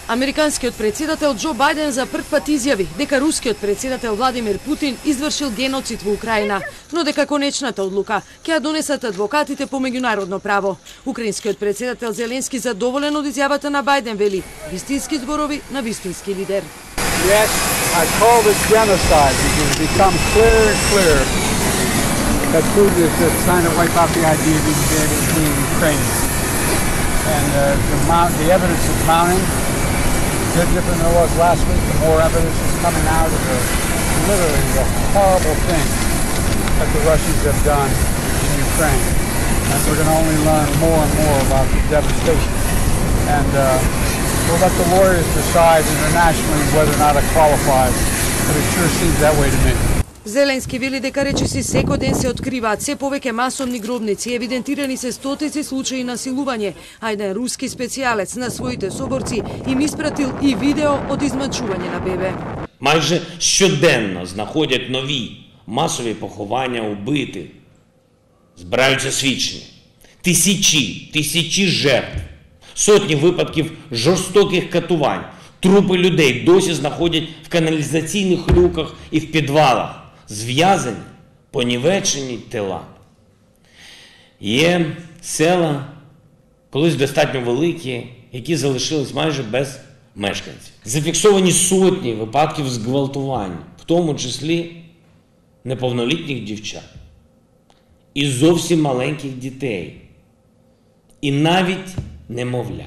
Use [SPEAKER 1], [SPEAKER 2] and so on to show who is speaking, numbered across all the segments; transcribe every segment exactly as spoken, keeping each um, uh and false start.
[SPEAKER 1] Американскиот председател Џо Бајден за прв пат изјави дека рускиот председател Владимир Путин извршил геноцид во Украина, но дека конечната одлука ќе ја донесат адвокатите по меѓународно право. Украинскиот председател Зеленски задоволен од изјавата на Бајден вели: вистински зборови на вистински лидер.
[SPEAKER 2] Yes, I call this genocide because it becomes clearer and clearer that Putin is just trying to wipe out the idea of being Ukrainian. And uh, the, mount, the evidence is mounting. It's different than it was last week. The more evidence is coming out of the, literally the horrible thing that the Russians have done in Ukraine. And we're going to only learn more and more about the devastation. And uh, we'll let the lawyers decide internationally whether or not it qualifies, but it sure seems that way to me.
[SPEAKER 1] Зеленски вели дека речиси секој ден се откриваат се повеќе масовни гробници, евидентирани се стотици случаи насилување, а еден руски специјалец на своите соборци им испратил и видео од измачување на бебе.
[SPEAKER 3] Майже щоденно знаходять нові масові поховання убитих, збираються свідчення. Тисячі, тисячі жертв, сотні випадків жорстоких катувань, трупи людей досі знаходять в каналізаційних люках і в підвалах. Зв'язані, понівечені тіла. Є села, колись достатньо великі, які залишились майже без мешканців. Зафіксовані сотні випадків зґвалтувань, в тому числі неповнолітніх дівчат, і зовсім маленьких дітей, і навіть немовля.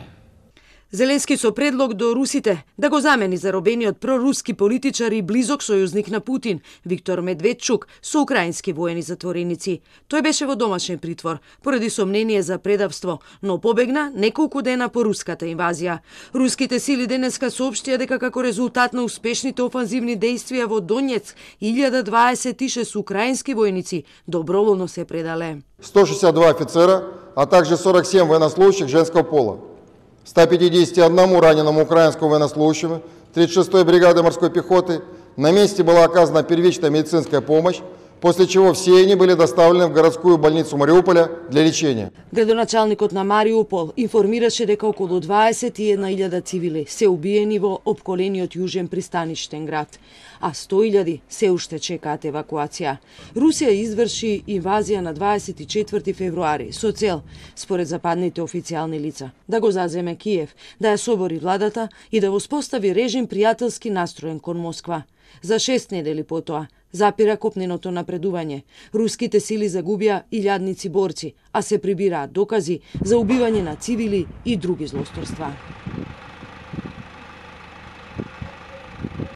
[SPEAKER 1] Зеленски со предлог до русите да го замени заробениот проруски политичар и близок сојузник на Путин, Виктор Медведчук, со украински воени затвореници. Тој беше во домашен притвор, поради сомнение за предавство, но побегна неколку дена по руската инвазија. Руските сили денеска соопштија дека како резултат на успешните офанзивни дејствија во Донецк, илјада дваесет и шест украински војници доброволно се предале.
[SPEAKER 4] сто шестьдесят два офицера, а также сорок семь военнослужащих женского пола. ста пятидесяти одному раненому украинскому военнослужащему тридцать шестой бригады морской пехоты на месте была оказана первичная медицинская помощь, после чего все они были доставлены в городскую больницу Мариуполя для лечения.
[SPEAKER 1] Градоначалникот на Мариупол информираше дека околу дваесет и една илјада цивили се убиени во опколениот јужен пристаништен град, а сто илјади се уште чекаат евакуација. Русија изврши инвазија на дваесет и четврти февруари со цел, според западните официјални лица, да го заземе Киев, да ја собори владата и да воспостави режим пријателски настроен кон Москва. За шест недели потоа запира копненото напредување. Руските сили загубија илјадници борци, а се прибираат докази за убивање на цивили и други злосторства.